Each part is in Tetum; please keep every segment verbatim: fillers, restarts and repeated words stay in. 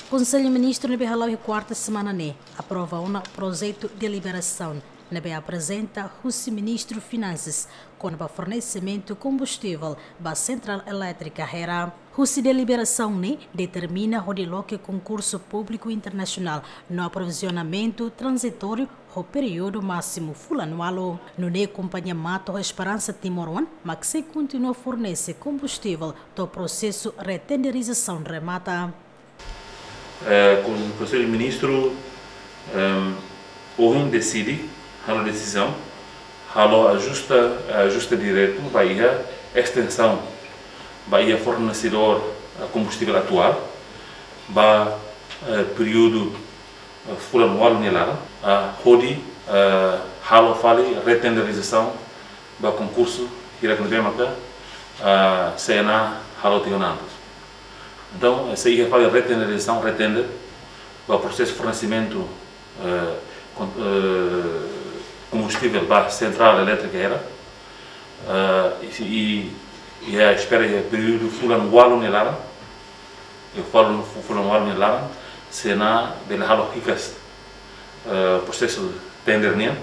Konsellu Ministru ne'ebé hala'o iha kuarta semana ne'e aprova ona projetu deliberasaun ne'ebé aprezenta husi Ministru Finansas kona-ba fornesimentu kombustivel ba sentrál elétrika Hera. Husi deliberasaun ne'e determina hodi loke konkursu públiku internasionál no aprovizionamentu tranzitóriu ho períodu másimu fulan ualu. Nune'e kompañia Mato ho Esperansa Timor Oan mak sei kontinua fornese kombustivel to'o prosesu retenderizasaun remata. Eh, kon-, Konsellu Ministru, ehm, ohin deside, halo desizaun, halo ajusta, ajusta diretu ba iha estensaun ba iha fornesedór, eh, kombustivel atuál ba, eh, períodu, eh, fulan ualu nia laran, ah, hodi, eh, halo fali retenderizasaun ba konkursu hirak ne'ebé maka, ah, CNA halo tiha ona antes. Entaun, eh, sei iha fali retenderizasaun, retender ba prosesu fornesimentu, eh, kon-, eh, kombustivel ba sentrál elétrika Hera, eh, i, i, i espera iha períodu fulan ualu nia laran, iha fulan, fulan ualu nia laran, CNA bele halo hikas, eh, prosesu tender nian.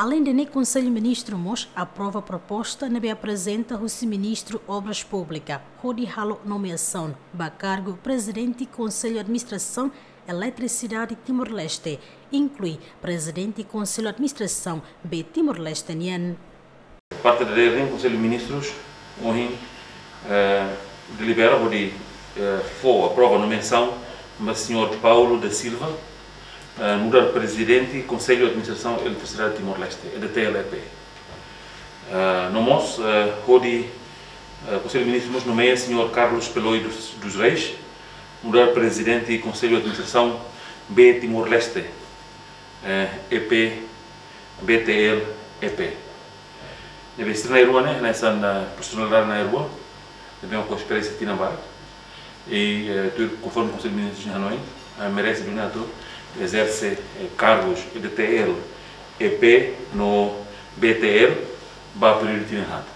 Aleinde ne'e, Konsellu Ministru mós aprova proposta ne'ebé aprezenta husi Ministru Obras Públikas hodi halo nomeasaun ba kargu Prezidente Konsellu Administrasaun Eletrisidade Timor-Leste, inklui Prezidente Konsellu Administrasaun B Timor-Leste nian. Parte dadeer ne'e, Konsellu Ministrus ohin, eh, delibera hodi, eh, fó, aprova nomeasaun ba señór Paulo da Silva, eh, nu'udar Prezidente Konsellu Administrasaun Eletrisidade Timor-Leste, E D T L E P. Eh, no mós, eh, hodi, eh, Konsellu Ministru mós nomeia señór Carlos Peloy dos, dos Reis nu'udar Prezidente Konsellu Administrasaun B Timor-Leste, eh, E P, B T L, E P. Ne'ebé sira na'in-rua ne'e, hanesan, eh, profesionál na'in-rua, ne'ebé ho esperiénsia tinan barak. I, eh, tuir konforme Konsellu Ministrus nia hanoin, eh, merese duni atu ezerse, eh, kargus E D T L, E P no B T L ba períodu tinan haat.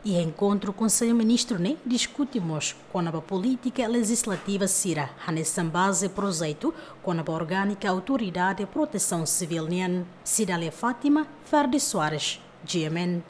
Iha enkontru, Konsellu Ministru ne'e diskute mós kona-ba polítika lejizlativa sira, hanesan baze projetu kona-ba orgánika Autoridade Protesaun Sivíl nian. Cidália Fátima, Ferdi Soares, G M N.